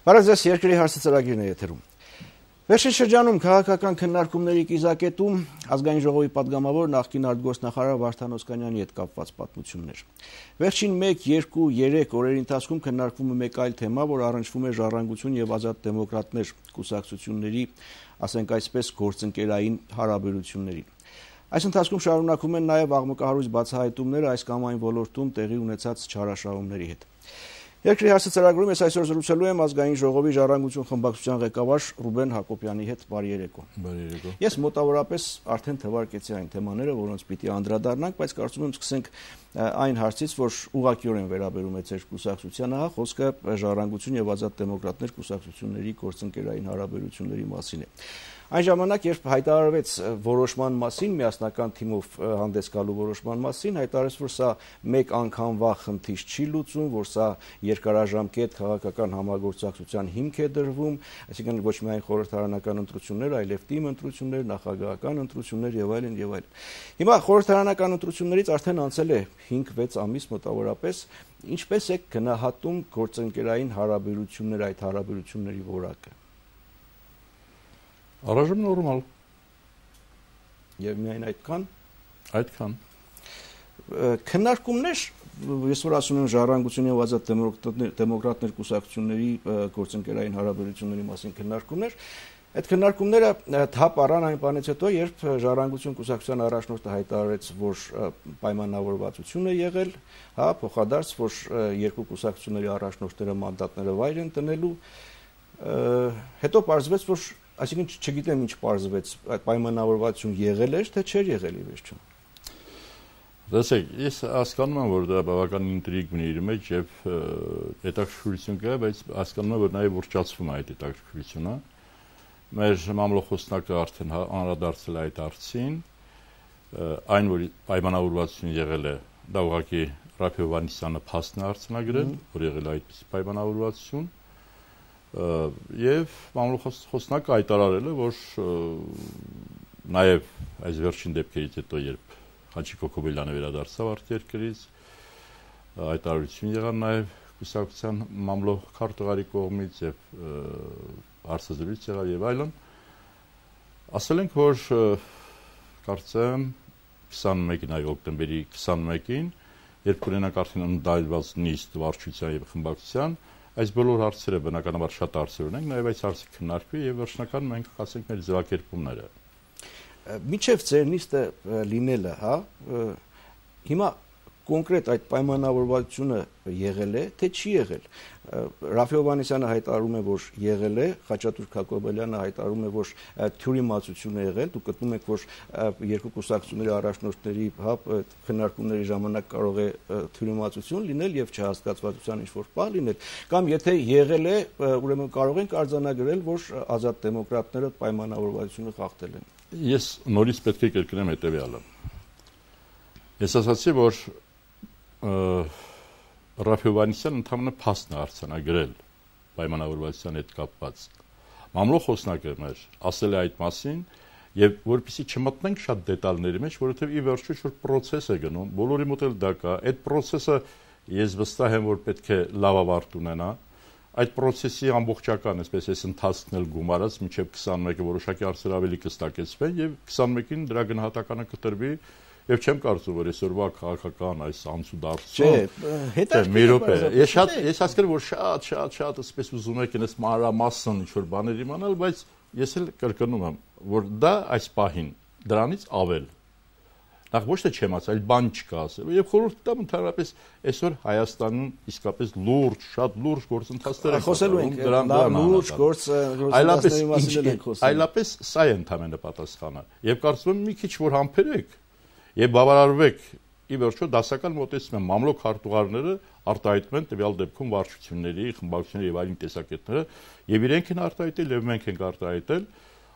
Բարև ձեզ, երկրի հարցը ծրագիրն է եթերում։ Վերջին շրջանում քաղաքական քննարկումների կիզակետում ազգային ժողովի падգամավոր նախկին արտգործնախարար Վարդան Օսկանյանի հետ կապված պատմություններ։ Վերջին 1, 2, 3 օրերի ընթացքում քննարկվում է մեկ այլ թեմա, որ առնչվում է Ժառանգություն եւ Ազատ դեմոկրատներ կուսակցությունների, ասենք այսպես, գործընկերային հարաբերություններին։ Այս ընթացքում շարունակվում են նաև աղմկահարույց բացահայտումները այս կամ այն ոլորտում տեղի ունեցած չարաշահումների հետ։ Երկրի հարցը ծրագրում ես այսօր զրուցելու եմ ազգային ժողովի Ժառանգություն խմբակցության ղեկավար Ռուբեն Հակոբյանի հետ։ Բարի երեկո։ Բարի երեկո։ Ես մոտավորապես արդեն թվարկեցի այն թեմաները, որոնց պիտի անդրադառնանք, բայց կարծում եմ սկսենք այն հարցից, որ ուղղակիորեն վերաբերում է ձեր կուսակցությանը, խոսքը Ժառանգություն եւ Ազատ դեմոկրատներ կուսակցությունների գործընկերային հարաբերությունների մասին է։ Այն ժամանակ, երբ հայտարարվեց որոշման մասին, միասնական թիմով հանդես գալու որոշման մասին, հայտարարեց, որ սա մեկ անգամվա խնդիր չի լուծում, որ սա երկարաժամկետ քաղաքական համագործակցության հիմք է դրվում, այսինքն ոչ միայն խորհրդարանական ընտրություններ, այլև թիմ ընտրություններ, նախագահական ընտրություններ եւ այլն եւ այլն։ Հիմա խորհրդարանական ընտրություններից արդեն անցել է 5-6 ամիս մոտավորապես, ինչպես է գնահատում գործընկերային հարաբերություններ, այդ հարաբերությունների որակը։ Առայժմ նորմալ։ Եվ միայն այդքան։ Քննարկումներ, ես որ ասում եմ Ժառանգություն եւ Ազատ դեմոկրատներ կուսակցությունների գործընկերային հարաբերությունների մասին քննարկումներ, այդ քննարկումները թափ առան այն բանից հետո, երբ Ժառանգություն կուսակցության առաջնորդը հայտարարեց, որ պայմանավորվածություն է եղել, փոխադարձ, որ երկու կուսակցությունների առաջնորդները մանդատները վայր են տնելու, հետո պարզվեց, որ այսինքն չգիտեմ ինչ պարզվեց, այդ պայմանավորվածություն եղել էր, թե չէր եղել ի վերջում։ Տեսեք, ես հասկանում եմ, որ դա բավական ինտրիգ ունի իր մեջ եւ հետաքրքրություն կա, բայց հասկանում եմ, որ նաեւ ուրճացվում է այդ հետաքրքրությունը։ Մեր մամլոխոսնակը արդեն անդրադարձել է այդ հարցին, այն որ պայմանավորվածություն եղել է, դա ուղղակի Ռաֆայել Հովհաննիսյանը փաստն է արձանագրել, որ եղել է այդպիսի պայմանավորվածություն։ Եվ մամլոխոսնակը հայտարարել է, որ նաև այս վերջին դեպքերից հետո, երբ Հաչիկ Հոկոբելյանը վերադարձավ արտերկրից, հայտարարություն եղան նաև կուսակցության մամլոխ քարտուղարի կողմից եւ հարցազրույց եղավ եւ այլն, ասել ենք, որ կարծեմ 21-ին, օկտեմբերի 21-ին, երբ կունենանք արդեն ընդդայլված նիստ վարչության եւ խմբակցության, այս բոլոր հարցերը բնականաբար շատ հարցեր ունենք, նաև այս հարցը քննարկվի եւ վերջնական մենք ասենք մեր ձևակերպումները։ Միջև ձեր նիստը լինելը, հիմա կոնկրետ այդ պայմանավորվածությունը եղել է, թե չի եղել։ Ռաֆայել Հովհաննիսյանը հայտարարում է, որ եղել է, Խաչատուր Հակոբելյանը հայտարարում է, որ թյուրիմացություն է եղել, դուք գտնում եք, որ երկու կուսակցությունների առաջնորդների քննարկումների ժամանակ կարող է թյուրիմացություն լինել եւ չհասկացվածության ինչ-որ բան լինել, կամ եթե եղել է, ուրեմն կարող ենք արձանագրել, որ Ազատ դեմոկրատները պայմանավորվածությունը խախտել են։ Ես նորից պետք է կրկնեմ հետեւյալը։ Ես ասացի, որ Ռաֆայել Հովհաննիսյանը ընդհանրապես փաստն է արձանագրել պայմանավորվածության հետ կապված։ Մամլոխոսնակը մեր ասել է այդ մասին եւ որպեսզի չմտնենք շատ դետալների մեջ, որովհետեւ ի վերջո ինչ-որ process է գնում, բոլորի մոտ էլ դա կա։ Այդ process-ը ես վստահ եմ, որ պետք է լավ ավարտ ունենա։ Այդ process-ի ամբողջական, այսպես այս ընթացքն էլ գումարած մինչեւ 21-ը որոշակի հարցեր ավելի կստակեցվեն եւ 21-ին դրա գնահատականը կտրվի։ Եվ չեմ կարծում, որ այսօրվա քաղաքական այս անցուդարձով մի րոպե։ Ես հասկանում որ շատ այսպես ուզում եք այնպես մանրամասն ինչ-որ բաներ իմանալ, բայց ես էլ կրկնում եմ, որ դա այս պահին դրանից ավել։ Նախ ոչ թե չեմ ասել, այլ բան չկա ասել։ Եվ խորհուրդ տամ ընդհանրապես այսօր Հայաստանում իսկապես լուրջ, շատ լուրջ գործընթացներ են խոսելու ենք դրան լուրջ գործընթացների մասին ենք խոսում։ Այլապես սա է ընդհանրապես պատասխանը։ Եվ կարծում եմ մի քիչ որ համբերեք եւ բավարարվեք ի վերջո դասական մոտեցում են մամլոք քարտուղարները արտահայտում են տվյալ դեպքում վարչությունների, խմբակցությունների եւ այլն տեսակետները եւ իրենք են արտահայտել եւ մենք ենք արտահայտել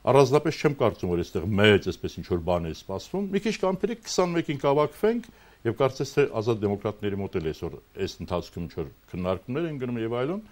առանձնապես չեմ կարծում որ այստեղ մեծ այսպես ինչ որ բան է սպասվում մի քիչ կամփերեք 21-ին կավակվենք եւ կարծես թե Ազատ դեմոկրատների մոտ էլ այսօր այս ընթացքում ինչ որ քննարկումներ են գնում եւ այլն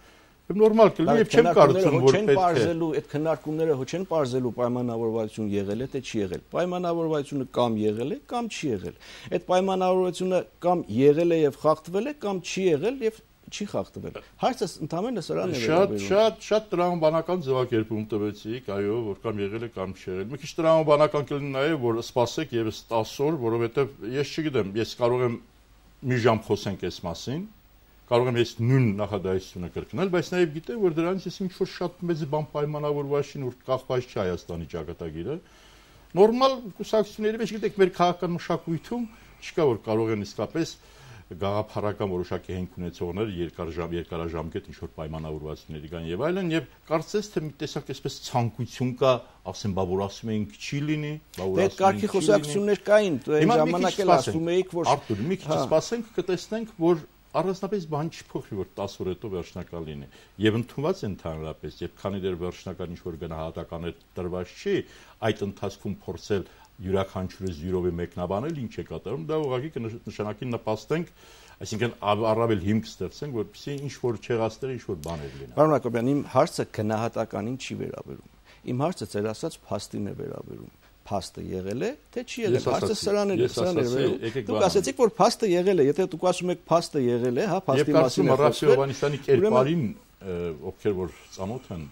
եւ նորմալ կլինի եւ չեմ կարծում որ պետք է այդ քննարկումները հո չեն բարձելու պայմանավորվածություն եղել է թե չի եղել պայմանավորվածությունը կամ եղել է կամ չի եղել այդ պայմանավորվածությունը կամ եղել է եւ խախտվել է կամ չի եղել եւ չի խախտվել։ Հարցը ընդամենը սրան է վերաբերում։ Շատ տրամաբանական ձևակերպում տվեցիք, այո, որ կամ եղել է կամ չի եղել։ Մի քիչ տրամաբանական կլինի նաև, որ սպասեք եւս 10 օր, որովհետեւ ես չգիտեմ, ես կարող եմ մի ժամ խոսենք այս մասին, կարող եմ ես նույն նախադասությունը կրկնել, բայց նաև գիտեմ, որ դրանից ես ինչ-որ շատ մեծ բան պայմանավորված չի, որ կախված չի Հայաստանի ճակատագիրը։ Նորմալ կուսակցությունների մեջ գիտեք, մեր քաղաքական մշակույթում չկա, որ կարող են իսկապես գաղափարական որոշակի հենք ունեցողներ երկարաժամկետ ինչ-որ պայմանավորվածությունների կան եւ այլն, եւ կարծես թե մի տեսակ այսպես ցանկություն կա, ասեմ, բա որ ասում էինք չի լինի, բա որ ասում կարգի խոսակցություններ կային, այն ժամանակ էլ ասում էիք, որ Արտուր, մի քիչ սպասենք, կտեսնենք, որ առանձնապես բան չփոխվի, որ 10 օր հետո վերջնական լինի։ Եվ ընդունված է ընդհանրապես, եւ քանի դեռ վերջնական ինչ-որ գնահատականներ տրված չի, այդ ընթացքում փորձել յուրաքանչյուրը զյուրովի մեկնաբանել ինչ է կատարում, դա ուղղակի կնշանակի նպաստենք, այսինքն առավել հիմք ստեղծենք, որպեսզի ինչ-որ չեղածները ինչ-որ բաներ լինեն։ Պարոն Հակոբյան, իմ հարցը գնահատականին չի վերաբերում։ Իմ հարցը ձեր ասած փաստին է վերաբերում։ Փաստը եղել է, թե չի եղել։ Հարցը սրան է վերաբերում։ Դուք ասացիք, որ փաստը եղել է, եթե դուք ասում եք փաստը եղել է, հա, փաստի մասին է խոսքը։ Եվ Հովհաննիսյանի կերպարին, ովքեր որ ծանոթ են,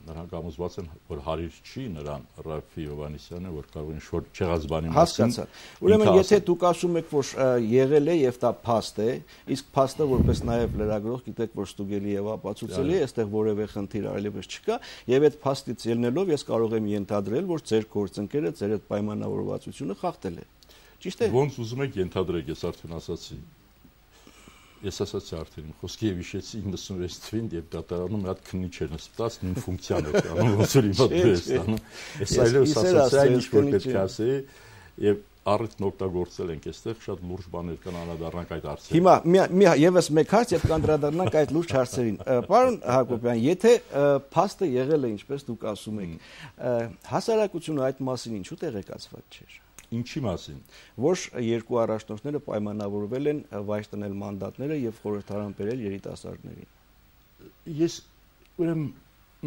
նրանք ամուսված են, որ հարիր չի նրան Ռաֆի Հովհաննիսյանը, որ կարող են շոր չեղած բանի մասին։ Հասկացա։ Ուրեմն եթե դուք ասում եք, որ եղել է եւ դա փաստ է, իսկ փաստը որպես նաեւ լրագրող գիտեք, որ ստուգելի եւ ապացուցելի է, այստեղ որևէ խնդիր այլևս չկա, եւ այդ փաստից ելնելով ես կարող եմ ենթադրել, որ ձեր գործընկերը ձեր այդ պայմանավորվածությունը խախտել է։ Ճիշտ է։ Ոնց ուզում եք ենթադրեք, ես արդեն ասացի։ Ես ասացի արդեն, խոսքի եւ հիշեցի 96 թվին եւ դատարանում մի հատ քննիչ էր նստած, նույն ֆունկցիան էր անում, ոնց որ հիմա դու ես անում։ Ես այլևս ասացի, այն ինչ որ պետք է ասեի եւ առիթն օգտագործել ենք այստեղ, շատ լուրջ բաներ կան անդրադառնանք այդ հարցերին։ Հիմա եւս մեկ հարց եւ կանդրադառնանք այդ լուրջ հարցերին։ Պարոն Հակոբյան, եթե փաստը եղել է, ինչպես դուք ասում եք, հասարակությունը այդ մասին ինչու տեղեկացված չէր։ Ինչի մասին։ Որ երկու առաջնորդները պայմանավորվել են վայր տնել մանդատները եւ խորհրդարան բերել երիտասարդներին։ Ես ուրեմն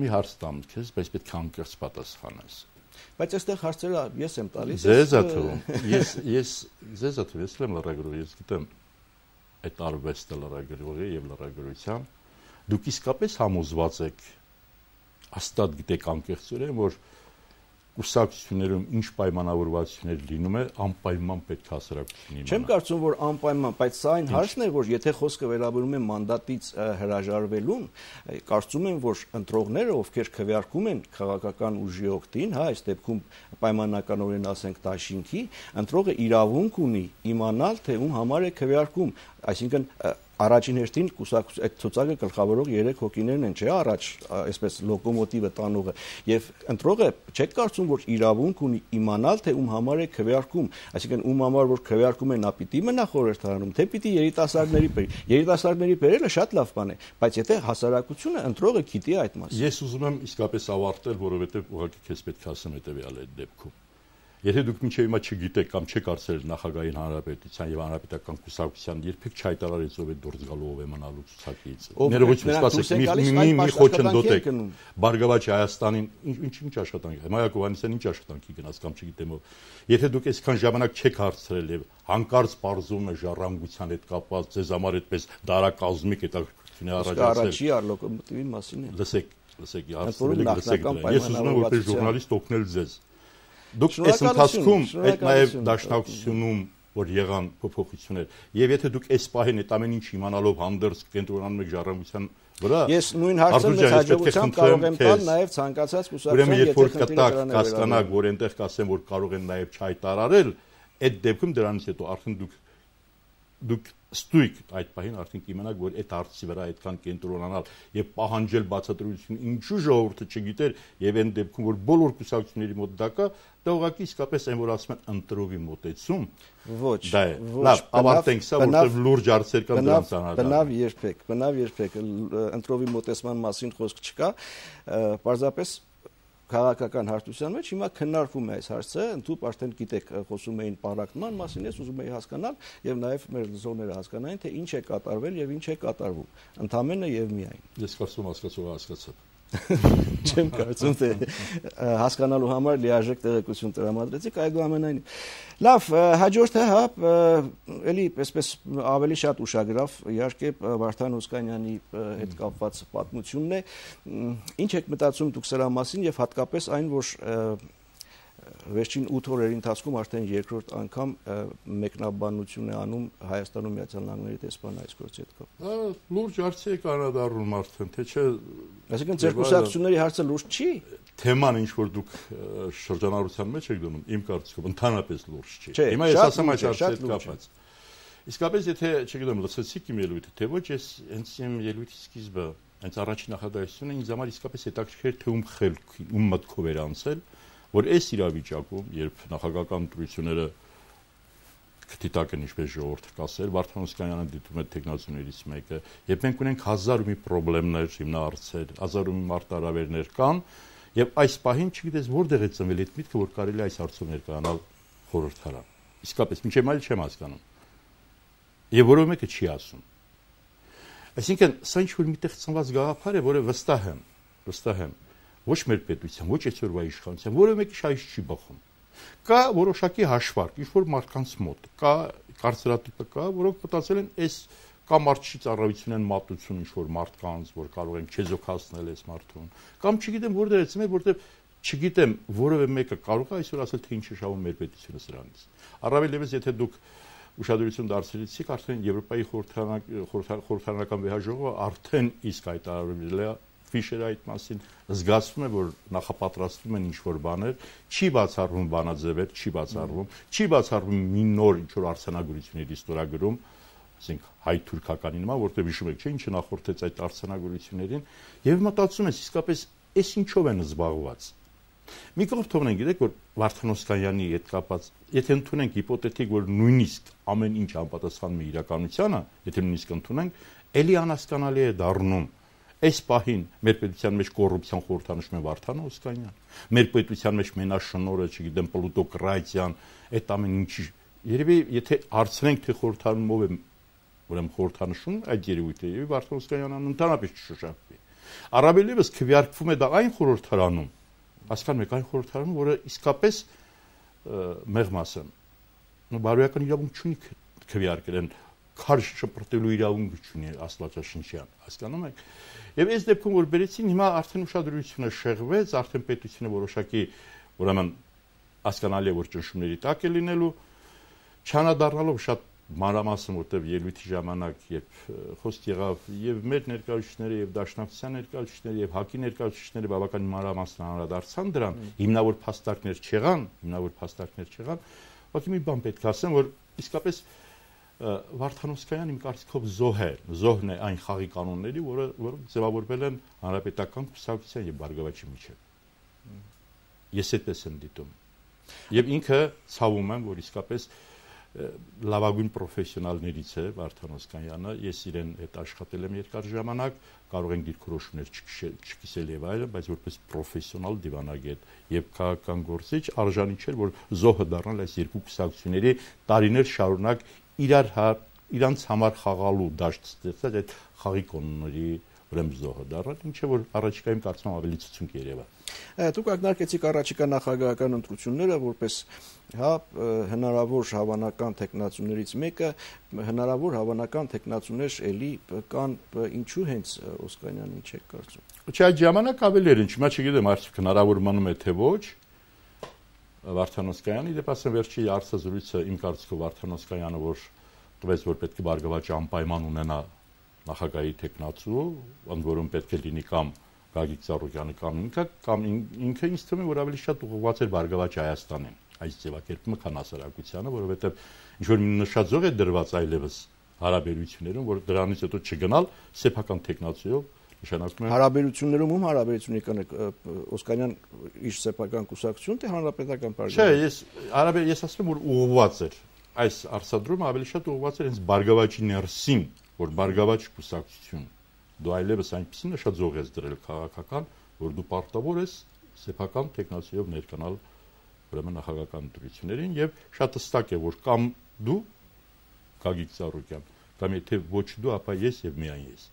մի հարց տամ քեզ, բայց պետք է անկեղծ պատասխանես։ Բայց այստեղ հարցերը ես եմ տալիս։ Ձեզ է թվում։ Ձեզ է թվում, ես եմ լրագրող, ես գիտեմ այդ արվեստը լրագրողի եւ լրագրության։ Դուք իսկապես համոզված եք, հաստատ գիտեք անկեղծորեն, որ կուսակցություններում ինչ պայմանավորվածություններ լինում է, անպայման պետք է հասարակությունը իմանա։ Չեմ կարծում, որ անպայման, բայց սա այն հարցն է, որ եթե խոսքը վերաբերում է մանդատից հրաժարվելուն, կարծում եմ, որ ընտրողները, ովքեր քվեարկում են քաղաքական ուժի օգտին, հա, այս դեպքում պայմանականորեն ասենք դաշինքի, ընտրողը իրավունք ունի իմանալ, թե ում համար է քվեարկում, այսինքն առաջին հերթին այդ ցուցակը գլխավորող 3 հոգիներն են, չէ՞, առաջ այսպես լոկոմոտիվը տանողը, եւ ընտրողը չեք կարծում, որ իրավունք ունի իմանալ, թե ում համար է քվեարկում, այսինքն ում համար որ քվեարկում են, նա պիտի մնա խորհրդարանում, թե պիտի երիտասարդների բերի։ Երիտասարդների բերելը շատ լավ բան է, բայց եթե հասարակությունը ընտրողը գիտի այդ մասին։ Ես ուզում եմ իսկապես ավարտել, որովհետեւ ուղղակի քեզ պետք է ասեմ հետեւյալը այդ դեպքում։ Եթե դուք մինչև հիմա չգիտեք կամ չեք արծել նախագահային հանրապետության եւ հանրապետական կուսակցության երբեք չհայտարարեց ով է դուրս գալու ով է մնալու ցուցակից։ Ներողություն, սպասեք, մի խոչընդոտ եք։ Բարգավաճ Հայաստանին ինչ աշխատանք։ Մայակ Հովհաննիսյանն ինչ աշխատանքի գնաց կամ չգիտեմ ով։ Եթե դուք այսքան ժամանակ չեք հարցրել եւ հանկարծ բարձում է ժառանգության հետ կապված ձեզ համար այդպես դարակազմիկ հետաքրքրություն առաջացել։ Առաջի լոկոմոտիվի մասին է։ Լսեք, լսեք, ես ուզում եմ որպես ժուրնալիստ օգնել ձեզ։ Դուք այս ընթացքում այդ նաև դաշնակցությունում որ եղան փոփոխություններ եւ եթե դուք այս պահին այդ ամեն ինչ իմանալով հանդերձ կենտրոնանում եք ժառանգության վրա ես նույն հարցը մեծ հաջողությամբ կարող եմ տալ նաև ցանկացած կուսակցության եթե խնդիրը կասկանաք որ այնտեղ կասեն որ կարող են նաև չհայտարարել այդ դեպքում դրանից հետո արդեն դուք ստույգ այդ պահին արդեն կիմանաք որ այդ հարցի վրա այդքան կենտրոնանալ եւ պահանջել բացատրություն ինչու ժողովուրդը չգիտեր եւ այն դեպքում որ բոլոր կուսակցությունների մոտ դա կա դա ուղղակի իսկապես այն որ ասում են ընտրովի մոտեցում ոչ լավ ավարտենք սա որտեղ լուրջ հարցեր կան դրանց անհատական բնավ երբեք ընտրովի մոտեցման մասին խոսք չկա պարզապես քաղաքական հարթության մեջ հիմա քննարկվում է այս հարցը, ընդհանուր արդեն գիտեք, խոսում էին պարակտման մասին, ես ուզում եի հասկանալ եւ նաեւ մեր լսողները հասկանային, թե ինչ է կատարվել եւ ինչ է կատարվում, ընդամենը եւ միայն։ Ես կարծում հասկացողը հասկացա։ Չեմ կարծում, թե հասկանալու համար լիարժեք տեղեկություն տրամադրեցիք, այդուամենայնիվ։ Լավ, հաջորդը, էլի այսպես ավելի շատ ուշագրավ, իհարկե Վարդան Օսկանյանի հետ կապված պատմությունն է։ Ինչ եք մտածում դուք սրա մասին եւ հատկապես այն, որ վերջին 8 օրերի ընթացքում արդեն երկրորդ անգամ մեկնաբանություն է անում Հայաստանում Միացյալ Նահանգների դեսպան այս գործի հետ կապված։ Լուրջ հարցի է կանադառնում արդեն, թե չէ։ Այսինքն ձեր կուսակցությունների հարցը լուրջ չի։ Թեման ինչ որ դուք շրջանառության մեջ եք դնում, իմ կարծիքով ընդհանրապես լուրջ չի։ Հիմա ես ասեմ այս հարցի հետ կապված։ Իսկապես եթե, չգիտեմ, լսեցիք իմ ելույթը, թե ոչ, ես հենց իմ ելույթի սկիզբը, հենց առաջին նախադասությունը ինձ համար իսկապես հետաքրքիր թե ում խելքի, ում մտքով էր անցել, որ այս իրավիճակում, երբ նախագահական ընտրությունները քթիտակ են ինչպես ժողովուրդը կասել, Վարդան Օսկանյանը դիտում է տեխնոլոգիաներից մեկը, եւ մենք ունենք 1000 մի խնդիրներ, հիմնարարցեր, 1000 մի մարտահրավերներ կան, եւ այս պահին չգիտես որտեղ է ծնվել այդ միտքը, որ կարելի է այս հարցով ներկայանալ խորհրդարան։ Իսկապես, մինչև այլ չեմ հասկանում։ Եվ որով մեկը չի ասում։ Այսինքն, սա ինչ որ միտեղ ծնված գաղափար է, որը վստահ եմ, ոչ մեր պետության, ոչ այսօրվա իշխանության, որը մեկի շահից չի բխում։ Կա որոշակի հաշվարկ, ինչ որ մարդկանց մոտ, կա կարծրատիպը կա, որոնք մտածել են այս կամ մարդի ծառայություն են մատուցում ինչ որ մարդկանց, որ կարող են չեզոքացնել այս մարդուն, կամ չգիտեմ որտեղ է ծնվել, որտեղ չգիտեմ որևէ մեկը կարող է այսօր ասել թե ինչ է շահում մեր պետությունը սրանից։ Առավել ևս եթե դուք ուշադրություն դարձրեցիք, արդեն Եվրոպայի խորհրդարանական վեհաժողովը արդեն իսկ հայտարարել է Ֆիշերը այդ մասին, զգացվում է, որ նախապատրաստվում են ինչ-որ բաներ, չի բացառվում բանաձևեր, չի բացառվում մի նոր ինչ-որ արձանագրությունների ստորագրում, ասենք հայ-թուրքականի նման, որտեղ հիշում եք, չէ՞, ինչը նախորդեց այդ արձանագրություններին, եւ մտածում ես, իսկապես այս ինչով են զբաղված։ Մի կողմ թողնենք, գիտեք, որ Վարդան Օսկանյանի հետ կապած, եթե ընդունենք հիպոթետիկ, որ նույնիսկ ամեն ինչ անպատասխանում է իրականությանը, եթե նույնիսկ ընդունենք, էլի անհասկանալի է դառնում այս պահին մեր պետության մեջ կոռուպցիան խորհրդանշում է Վարդան Օսկանյան, մեր պետության մեջ մենաշնորհը, չգիտեմ, պլուտոկրատիան, այդ ամեն ինչի։ Երևի եթե հարցնենք թե խորհրդանումով է, ուրեմն խորհրդանշում այդ երևույթը, եւ Վարդան Օսկանյանը ընդհանրապես չշշափվի։ Առավել ևս քվեարկվում է դա այն խորհրդարանում, հասկանում եք, այն խորհրդարանում, որը իսկապես մեղմ ասեմ, բարոյական իրավունք չունի քվեարկել են քարշ շպրտելու իրավունք չունի աստվածաշնչյան, հասկանում եք։ Եվ այս դեպքում որ բերեցին, հիմա արդեն ուշադրությունը շեղվեց, արդեն պետությունը որոշակի, ուրեմն հասկանալի է, որ ճնշումների տակ է լինելու, չանադառնալով շատ մանրամասն, որտեղ ելույթի ժամանակ երբ խոսք եղավ եւ մեր ներկայացուցիչները եւ Դաշնակցության ներկայացուցիչները եւ ՀԱԿ-ի ներկայացուցիչները բավական մանրամասն անդրադարձան դրան, հիմնավոր փաստարկներ չեղան, ուղղակի մի բան պետք է ասեմ, որ իսկապես Վարդան Օսկանյանը իմ կարծիքով զոհն է այն խաղի կանոնների, որոնք ձևավորվել են հանրապետական կուսակցության եւ Բարգավաճի միջեւ։ Ես այդպես եմ դիտում։ Եւ ինքը ցավում եմ, որ իսկապես լավագույն պրոֆեսիոնալներից է Վարդան Օսկանյանը, ես իրեն հետ աշխատել եմ երկար ժամանակ, կարող են դիրքորոշումներ չկիսել եւ այլն, բայց որպես պրոֆեսիոնալ դիվանագետ եւ քաղաքական գործիչ արժանի չէր, որ զոհը դառնալ այս երկու կուսակցությունների տարիներ շարունակ իրանց համար խաղալու դաշտ ստեղծած այդ խաղի կանոնների ուրեմն զոհը դառնալ, ինչը որ առաջիկայում կարծում ավելի ցուցունք երևա։ Դուք ակնարկեցիք առաջիկա նախագահական ընտրությունները որպես հնարավոր հավանական տեխնացուներից մեկը, հնարավոր հավանական տեխնացուներ էլի կան, ինչու հենց Օսկանյանին չեք կարծում։ Չէ, այդ ժամանակ ավելի էր, ինչու՞ չգիտեմ, արդյոք հնարավոր մնում է թե ոչ։ Վարդան Օսկանյանի դեպի ասեմ վերջի հարցազրույցը իմ կարծիքով Վարդան Օսկանյանը որ տվեց որ պետք է Բարգավաճը անպայման ունենա նախագահի տեխնացու, ընդ որում պետք է լինի կամ Գագիկ Ծառուկյանը կամ ինքը ինձ թվում է որ ավելի շատ ուղղված էր Բարգավաճ Հայաստանին այս ձևակերպումը քան հասարակությանը, որովհետև ինչ որ նշած զոհ է դրված այլևս հարաբերություններում, որ դրանից հետո չգնալ սեփական տեխնացիով նշանակում է հարաբերություններում ում հարաբերությունի կան Օսկանյան իր սեփական կուսակցություն թե հանրապետական պարտիա։ Չէ, ես ասում եմ որ ուղղված էր այս արսադրումը ավելի շատ ուղղված էր հենց Բարգավաճի ներսին, որ Բարգավաճ կուսակցություն դու այլևս այնպեսի նշած զոհ ես դրել քաղաքական, որ դու պարտավոր ես սեփական տեխնացիով ներկանալ ուրեմն նախագահական ընտրություններին եւ շատ հստակ է որ կամ դու Գագիկ Ծառուկյան կամ եթե ոչ դու ապա ես եւ միայն ես։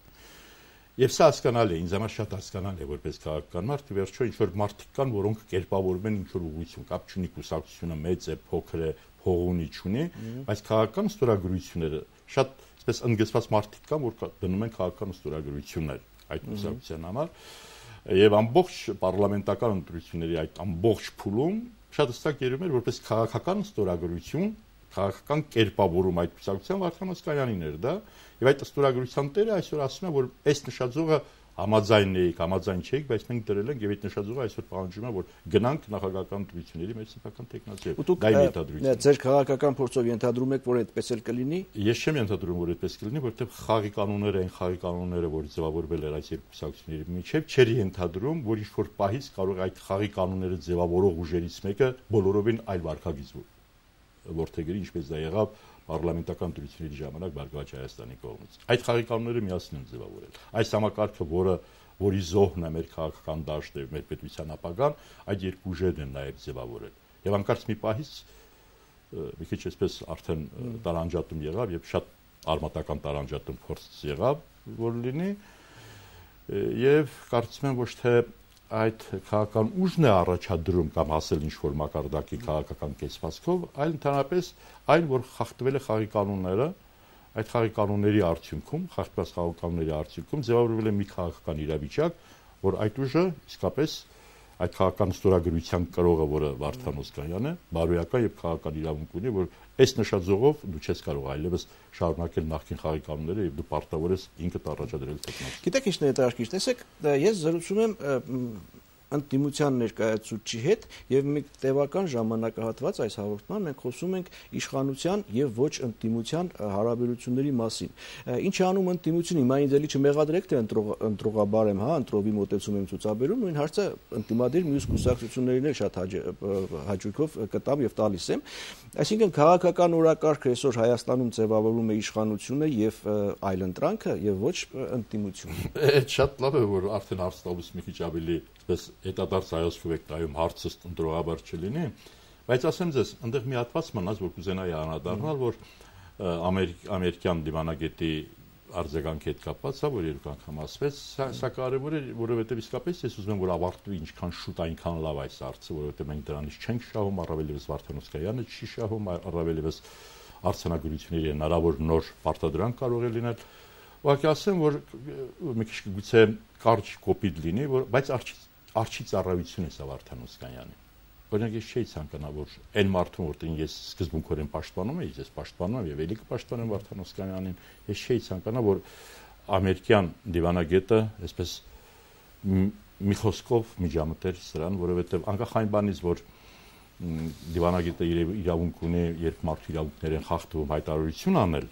Եվ սա հասկանալի է, ինձ համար շատ հասկանալի է որպես քաղաքական մարդ, վերջո ինչ որ մարդիկ կան, որոնք կերպավորում են ինչ որ ուղղություն, կապ չունի կուսակցությունը մեծ է, փոքր է, փող ունի, չունի, բայց քաղաքական ստորագրությունները շատ այսպես ընդգծված մարդիկ կան, որ դնում են քաղաքական ստորագրություններ այդ կուսակցության համար, եւ ամբողջ պարլամենտական ընտրությունների այդ ամբողջ փուլում շատ հստակ երևում էր որպես քաղաքական ստորագրություն, քաղաքական կերպավորում այդ կուսակցության Վարդան Օսկանյանին էր դա, եւ այդ ստորագրության տերը այսօր ասում է, որ այս նշաձողը համաձայն էիք, համաձայն չէիք, բայց մենք դրել ենք եւ այդ նշաձողը այսօր պահանջում է, որ գնանք նախագահական ընտրությունների մեր սեփական տեխնացիով։ Դա իմ ենթադրությունն է։ Ձեր քաղաքական փորձով ենթադրում եք, որ այդպես էլ կլինի։ Ես չեմ ենթադրում, որ այդպես կլինի, որովհետեւ խաղի կանոնները այն խաղի կանոնները, որ ձևավորվել էր այս երկու կուսակցությունների միջև, չէր ենթադրում, որ ինչ որ պահից կարող այդ խաղի կանոնները ձևավորող ուժերից մեկը բոլորովին այլ վարքագիծ որդեգրի, ինչպես դա եղավ պարլամենտական ընտրությունների ժամանակ Բարգավաճ Հայաստանի կողմից։ Այդ խաղի կանոնները միասին են ձևավորել։ Այս համակարգը, որի զոհն է մեր քաղաքական դաշտը, մեր պետության ապագան, այդ երկու ուժերն են նաև ձևավորել։ Եվ անկարծ մի պահից մի քիչ այսպես արդեն տարանջատում եղավ եւ շատ արմատական տարանջատում փորձ եղավ, որ լինի, եւ կարծում եմ ոչ թե այդ քաղաքական ուժն է առաջադրում կամ հասել ինչ-որ մակարդակի քաղաքական կեցվածքով, այլ ընդհանրապես այն, որ խախտվել է խաղի կանոնները, այդ խաղի կանոնների արդյունքում, խախտված խաղի կանոնների արդյունքում ձևավորվել է մի քաղաքական իրավիճակ, որ այդ ուժը իսկապես այդ քաղաքական ստորագրության կրողը, որը Վարդան Օսկանյանն է, բարոյական եւ քաղաքական իրավունք ունի, որ այս նշաձողով դու չես կարող այլևս շարունակել նախկին խաղի կանոնները եւ դու պարտավոր ես ինքդ առաջադրել տեխնոլոգիա։ Գիտեք ինչ ներդաշնչ, տեսեք, ես զրուցում եմ ընդդիմության ներկայացուցիչի հետ եւ մի տևական ժամանակահատված այս հաղորդման մենք խոսում ենք իշխանության եւ ոչ ընդդիմության հարաբերությունների մասին։ Ինչ է անում ընդդիմությունը, հիմա ինձ էլի չմեղադրեք թե ընտրողաբար եմ, ընտրովի մոտեցում եմ ցուցաբերում, նույն հարցը ընդդիմադիր մյուս կուսակցություններին էլ շատ հաճույքով կտամ եւ տալիս եմ։ Այսինքն քաղաքական օրակարգը այսօր Հայաստանում ձևավորում է իշխանությունը եւ այլընտրանքը եւ ոչ ընդդիմությունը։ Այդ շատ լավ է, որ արդեն հարցնալուց մի քիչ ավելի այսպես հետադարձ հայացքով եք տայում հարցը ընտրողաբար չլինի, բայց ասեմ ձեզ, այնտեղ մի հատված մնաց, որ կուզենայի անդրադառնալ, որ ամերիկյան դիվանագետի արձագանքի հետ կապված է, որ երկու անգամ ասվեց, սա կարևոր է, որովհետև իսկապես ես ուզում եմ, որ ավարտվի ինչքան շուտ, այնքան լավ այս հարցը, որովհետև մենք դրանից չենք շահում, առավել ևս Վարդան Օսկանյանը չի շահում, առավել ևս արձանագրությունների հնարավոր նոր պարտադրանք կարող է լինել։ Ուղղակի ասեմ, որ մի քիչ գուցե կարճ կոպիտ լինի, բայց արչի ծառայություն է սա Վարդան Օսկանյանի։ Օրինակ ես չէի ցանկանա, որ այն մարդուն, որտեղ ես սկզբունքորեն պաշտպանում եմ, ես պաշտպանում եմ եւ ելի կպաշտպանեմ Վարդան Օսկանյանին, ես չէի ցանկանա, որ ամերիկյան դիվանագետը այսպես մի խոսքով միջամտեր սրան, որովհետեւ անկախ այն բանից, որ դիվանագետը իրավունք ունի, երբ մարդու իրավունքներ են խախտվում, հայտարարություն անել,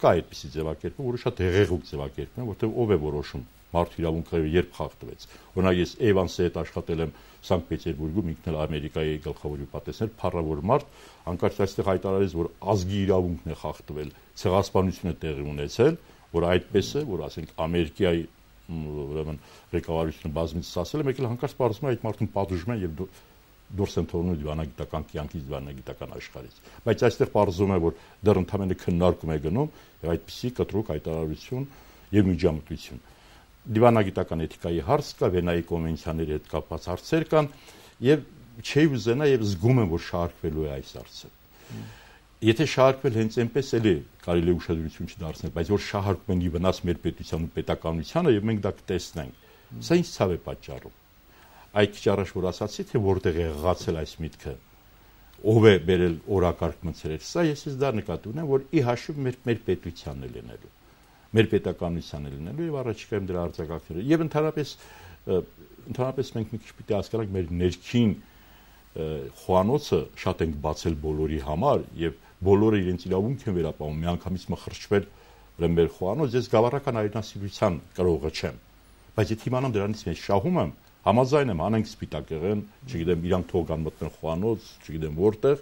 կա այդպիսի ձևակերպում, որը շատ հեղեղուկ ձևակերպում է, որտեղ ով է որոշում մարդու իրավունքները երբ խախտվեց։ Օրինակ ես Էվանսի հետ աշխատել եմ Սանկտ Պետերբուրգում, ինքն էլ Ամերիկայի գլխավոր ուպատեսներ, փառավոր մարդ, անկարծ այստեղ հայտարարեց, որ ազգի իրավունքն է խախտվել, ցեղասպանություն է տեղի ունեցել, որ այդպես է, որ ասենք Ամերիկայի ուրեմն ղեկավարությունը բազմիցս ասել է, մեկ էլ հանկարծ պարզվում է այդ մարդուն պատժում են եւ դուրս են թողնում դիվանագիտական կյանքից, դիվանագիտական աշխարհից։ Բայց այստեղ պարզվում է, որ դեռ ընդհանրապես քննարկում է գնում եւ այդպիսի կտրուկ հայտարարություն եւ միջամտություն։ Դիվանագիտական էթիկայի հարց կա, Վենայի կոնվենցիաների հետ կապված հարցեր կան եւ չի ուզենա եւ զգում եմ, որ շարքվելու է այս հարցը։ Եթե շարքվել հենց այնպես էլի կարելի է ուշադրություն չդարձնել, բայց որ շահարկում են ի վնաս մեր պետության ու պետականությանը եւ մենք դա կտեսնենք։ Սա ինչ ցավ է պատճառում։ Այդ քիչ առաջ որ ասացի, թե որտեղ է ղացել այս միտքը, ով է բերել օրակարգ մցրել, սա ես դա նկատի ունեմ, որ ի հաշիվ մեր պետությանն է լինելու, մեր պետականությանն է լինելու եւ առաջիկայում դրա արձագանքները։ Եվ ընդհանրապես մենք մի քիչ պիտի հասկանանք մեր ներքին խոհանոցը շատ ենք բացել բոլորի համար եւ բոլորը իրենց իրավունք են վերապահում, միանգամից մխրճվել մեր խոհանոց, ես գավառական այրենասիրության կրողը չեմ, բայց եթե իմանամ դրանից ես շահում եմ, համաձայն եմ, անենք սպիտակեղեն, չգիտեմ, իրանք թող կան մտնեն խոհանոց, չգիտեմ որտեղ,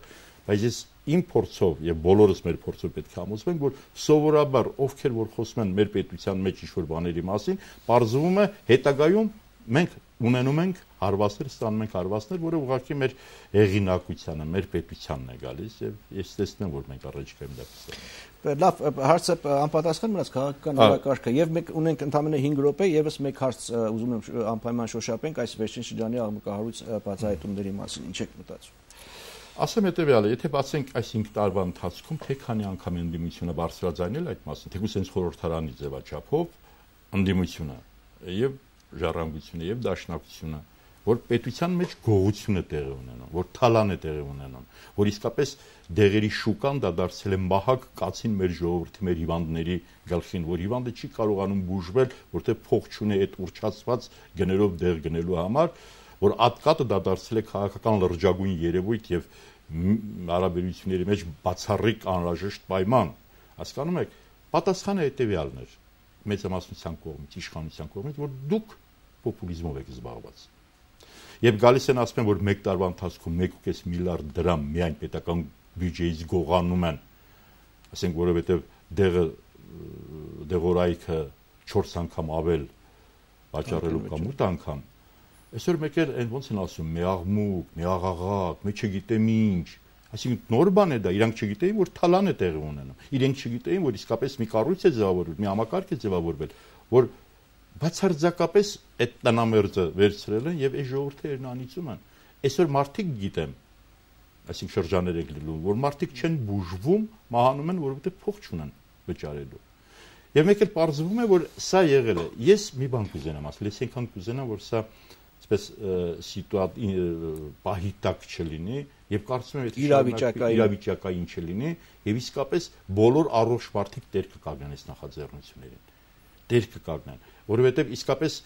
բայց ես իմ փորձով եւ բոլորս մեր փորձով պետք է համոզվենք, որ սովորաբար ովքեր որ խոսում են մեր պետության մեջ ինչ-որ բաների մասին, բարձվում է հետագայում մենք ունենում ենք հարվածներ ստանում ենք հարվածներ, որը ուղղակի մեր հեղինակությանը, մեր պետությանն է գալիս եւ ես տեսնեմ, որ մենք առաջիկայում դա կստանանք։ Լավ, հարցը անպատասխան մնաց քաղաքական օրակարգը եւ մենք ունենք ընդամենը 5 րոպե եւս մեկ հարց ուզում եմ անպայման շոշափենք այս վերջին շրջանի աղմկահարույց բացահայտումների մասին, ինչ եք մտածում։ Ասեմ հետեւյալը, եթե բացենք այս 5 տարվա ընթացքում թե քանի անգամ ընդդիմությունը բարձրաձայնել այդ մասին, թեկուզ հենց խորհրդարանի ձևաչափով ընդդիմությունը եւ ժառանգությունը եւ դաշնակցությունը, որ պետության մեջ գողություն է տեղի ունենում, որ թալան է տեղի ունենում, որ իսկապես դեղերի շուկան դա դարձել է մահակ կացին մեր ժողովրդի, մեր հիվանդների գլխին, որ հիվանդը չի կարողանում բուժվել, որտեղ փող չունի այդ ուռճացված գներով դեղ գնելու համար, որ ատկատը դա դարձել է քաղաքական լրջագույն երևույթ եւ հարաբերությունների մեջ բացառիկ անհրաժեշտ պայման։ Հասկանում եք, պատասխանը հետեւյալն էր մեծամասնության կողմից, իշխանության կողմից, որ դուք պոպուլիզմով եք զբաղված։ Եվ գալիս են ասում են, որ 1 տարվա ընթացքում 1.5 միլիարդ դրամ միայն պետական բյուջեից գողանում են, ասենք, որովհետև դեղորայքը 4 անգամ ավել վաճառելու կամ 8 անգամ։ Այսօր մեկեր այն ոնց են ասում, մի աղմուկ, մի աղաղակ, մի չգիտեմ ինչ, այսինքն նոր բան է դա, իրանք չգիտեին, որ թալան է տեղի ունենում, իրենք չգիտեին, որ իսկապես մի կառույց է ձևավորվել, մի համակարգ է ձևավորվել, որ բացարձակապես այդ տնամերձը վերցրել են եւ այս ժողովուրդներն անիծում են։ Այսօր մարդիկ գիտեմ, այսինքն շրջաներ եք լինում, որ մարդիկ չեն բուժվում, մահանում են, որովհետեւ փող չունեն վճարելու։ Եվ մեկ էլ պարզվում է, որ սա եղել է։ Ես մի բան կուզենամ ասել, ես այնքան կուզենամ, որ սա այսպես պահիտակ չլինի եւ կարծում եմ այդ իրավիճակային չլինի եւ իսկապես բոլոր առողջ մարդիկ դեր կկանգնեն այս նախաձեռնություններին։ Դեր կկանգնեն, որովհետեւ իսկապես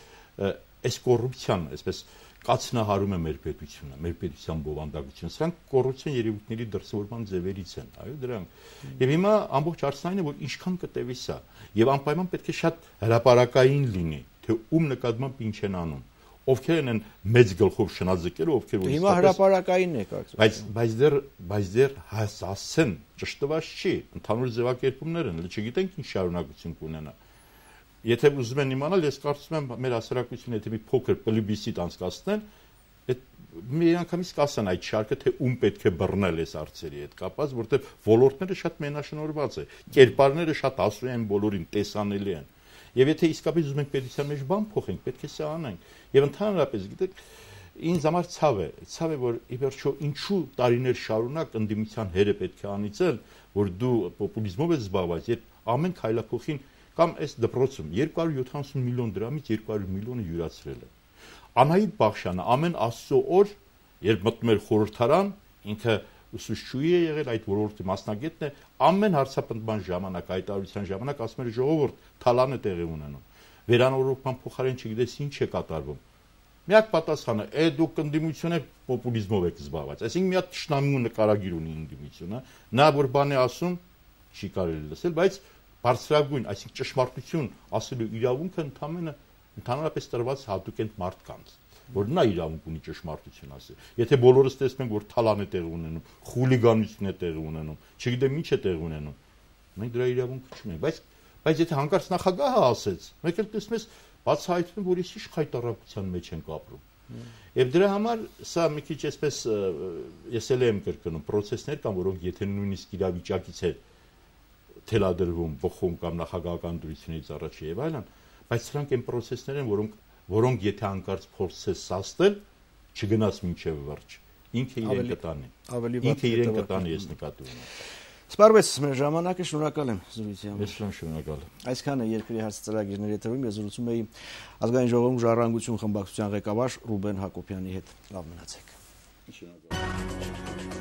այս կոռուպցիան, այսպես կացնահարում է մեր պետությունը, մեր պետության բովանդակությունը։ Սրանք կոռուպցիոն երևույթների դրսևորման ձևերից են, այո, դրանք։ Եվ հիմա ամբողջ հարցն այն է, որ ինչքան կտևի սա, եւ անպայման պետք է շատ հրապարակային լինի, թե ում նկատմամբ ինչ են անում, ովքեր են մեծ գլխով շնաձգերը, ովքեր որ հիմա հրապարակային է կարծում։ Բայց դեռ հասցեն ճշտված չի, ընդհանուր ձևակերպումներ են, չգիտենք ինչ շարունակություն կունենա։ Եթե ուզում են իմանալ, ես կարծում եմ մեր հասարակությունը եթե մի փոքր պլեբիսցիտ անցկացնեն, այդ մի անգամից կասեն այդ շարքը, թե ում պետք է բռնել այս հարցերի հետ կապված, որտեղ ոլորտները շատ մենաշնորհված է, կերպարները շատ ասու են բոլորին, տեսանելի են։ Եվ եթե իսկապես ուզում ենք պետության մեջ բան փոխենք, պետք է սա անենք։ Եվ ընդհանրապես, գիտեք, ինձ համար ցավ է, որ ի վերջո ինչու տարիներ շարունակ ընդդիմության հերը պետք է անիծել, որ դու պոպուլիզմով ես զբաղված, երբ ամեն քայլափոխին կամ այս դպրոցում 270 միլիոն դրամից 200 միլիոնը յուրացրել է։ Անահիտ Բախշյանը ամեն աստծո օր, երբ մտնում էր խորհրդարան, ինքը ուսուցչուհի է եղել, այդ ոլորտի մասնագետն է, ամեն հարցապնդման ժամանակ, հայտարարության ժամանակ ասում էր ժողովուրդ, թալան է տեղի ունենում։ Վերանորոգման փոխարեն չգիտես ինչ է կատարվում։ Միակ պատասխանը, դուք ընդդիմություն եք, պոպուլիզմով եք զբաղված։ Այսինքն մի հատ ճշնամու նկարագիր ունի ընդդիմությունը, նա որ բան է ասում, չի կարելի լսել, բայց բարձրագույն, այսինքն ճշմարտություն ասելու իրավունքը ընդհանրապես տրված հատուկ են մարդկանց, որ նա իրավունք ունի ճշմարտություն ասել։ Եթե բոլորս տեսնում ենք, որ թալան է տեղի ունենում, խուլիգանություն է տեղի ունենում, չգիտեմ ինչ է տեղի ունենում, մենք դրա իրավունքը չունենք, բայց եթե հանկարծ նախագահը ասեց, մեկ էլ տեսնում ես բացահայտվում է, որ ինչ խայտարակության մեջ ենք ապրում։ Եվ դրա համար սա մի քիչ այսպես ես էլ եմ կրկնում, process-ներ կան, որոնք եթե նույնիսկ իրավիճակից է թելադրվում, բխում կամ նախագահական դրությունից առաջ եւ այլն, բայց սրանք այն process-ներ են, որոնք եթե հանկարծ փորձես սաստել, չգնաց մինչև վերջ։ Ինքը իրեն կտանի։ Ինքը իրեն կտանի, ես նկատի ունեմ։ Սպառվեց մեր ժամանակը, շնորհակալ եմ զրույցի համար։ Ես շնորհակալ եմ։ Այսքան է երկրի հարց ծրագիրների եթերում, ես զրուցում էի Ազգային ժողովում ժառանգություն խմբակցության ղեկավար Ռուբեն Հակոբյանի հետ։ Լավ մնացեք։ Շնորհակալ եմ։